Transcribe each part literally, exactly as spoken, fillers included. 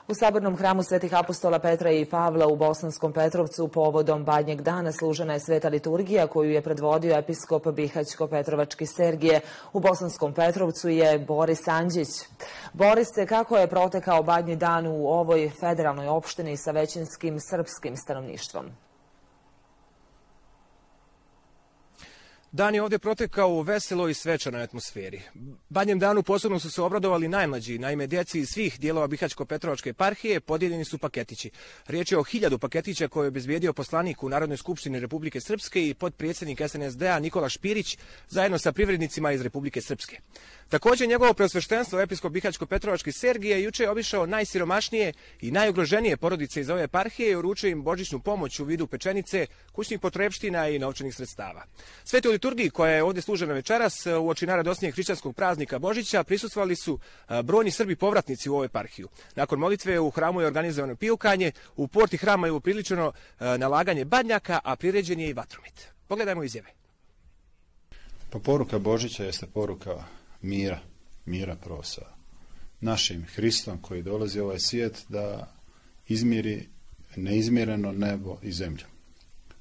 U sabornom hramu Svetih apostola Petra i Pavla u Bosanskom Petrovcu povodom Badnjeg dana služena je sveta liturgija koju je predvodio episkop Bihaćko-Petrovački Sergije. U Bosanskom Petrovcu je Boris Andžić. Borise, kako je protekao Badnji dan u ovoj federalnoj opštini sa većinskim srpskim stanovništvom? Dan je ovdje protekao u veseloj i svečanoj atmosferi. Badnjem danu posebno su se obradovali najmlađi, naime djeci iz svih dijelova Bihaćko-Petrovačke eparhije podijeljeni su paketići. Riječ je o hiljadu paketića koje je obezbijedio poslanik u Narodnoj skupštini Republike Srpske i potpredsjednik S N S D-a Nikola Špirić zajedno sa privrednicima iz Republike Srpske. Također njegovo preosveštenstvo episkop Bihaćko-Petrovački Sergije juče je obišao najsiromašnije i najugroženije porodice iz ove eparhije i uručio im božićnu pomoć u vidu pečenice, kućnih potrepština i novčanih sredstava. Svetoj liturgiji koja je ovdje služena večeras uoči najradosnijeg hrišćanskog praznika Božića prisustvovali su brojni Srbi povratnici u ovu eparhiju. Nakon molitve u hramu je organizovano pijukanje, u porti hrama je upriličeno nalaganje badnjaka, a priređen je i vatromet. Pogledajmo izjave. Pa poruka Božića jeste poruka mira, mira prvo sa našim Hristom koji dolazi u ovaj svijet da izmiri neizmjereno nebo i zemlju.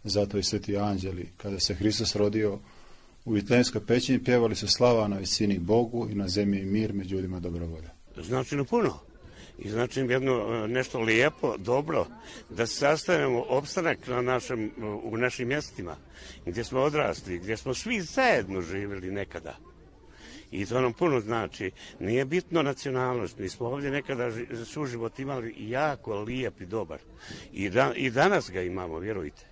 Zato i sveti anđeli, kada se Hristos rodio u Vitlejemskoj pećini, pjevali su slava na visini Bogu i na zemlji mir među ljudima dobrovolja. Znači na puno. I znači jedno nešto lijepo, dobro, da se sastavimo opstanak na našem, u našim mjestima, gdje smo odrasli, gdje smo svi zajedno živjeli nekada. I to nam puno znači. Nije bitno nacionalnost. Mi smo ovdje nekada suživot imali jako lijep i dobar. I, da, i danas ga imamo, vjerujte.